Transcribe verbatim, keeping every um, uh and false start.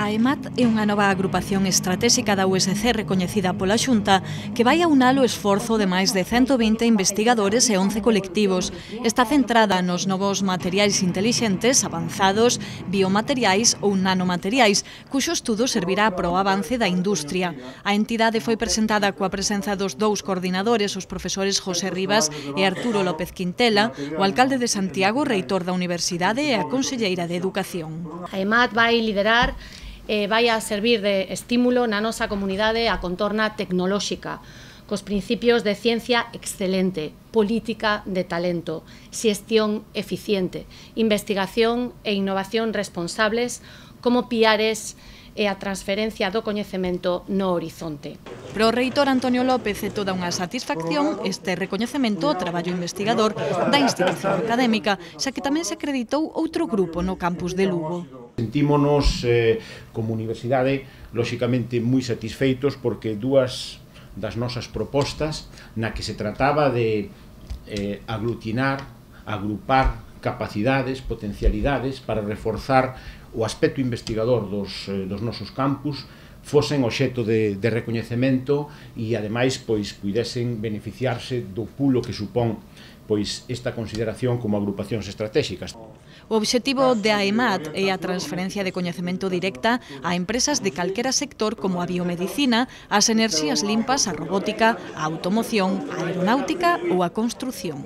A EMAT é unha nova agrupación estratégica da U S C recoñecida pola Xunta que vai aunar o esforzo de máis de ciento vinte investigadores e once colectivos. Está centrada nos novos materiais intelixentes, avanzados, biomateriais ou nanomateriais, cuxo estudo servirá para o avance da industria. A entidade foi presentada coa presenza dos dous coordinadores, os profesores José Rivas e Arturo López Quintela, o alcalde de Santiago, reitor da Universidade e a conselleira de Educación. A EMAT vai liderar e vai a servir de estímulo na nosa comunidade a contorna tecnolóxica, cos principios de ciencia excelente, política de talento, xestión eficiente, investigación e innovación responsables como piares e a transferencia do coñecemento no horizonte. Para o reitor Antonio López é toda unha satisfacción este recoñecemento ao traballo investigador da institución académica, xa que tamén se acreditou outro grupo no campus de Lugo. Sentímonos eh, como universidade, lóxicamente, moi satisfeitos porque dúas das nosas propostas na que se trataba de eh, aglutinar, agrupar capacidades, potencialidades para reforzar o aspecto investigador dos, eh, dos nosos campus fosen obxecto de, de recoñecemento e, ademais, pois, puidesen beneficiarse do pulo que supón pois, esta consideración como agrupacións estratégicas. O obxectivo da EMAT é a transferencia de coñecemento directa a empresas de calquera sector como a biomedicina, as enerxías limpas, a robótica, a automoción, a aeronáutica ou a construción.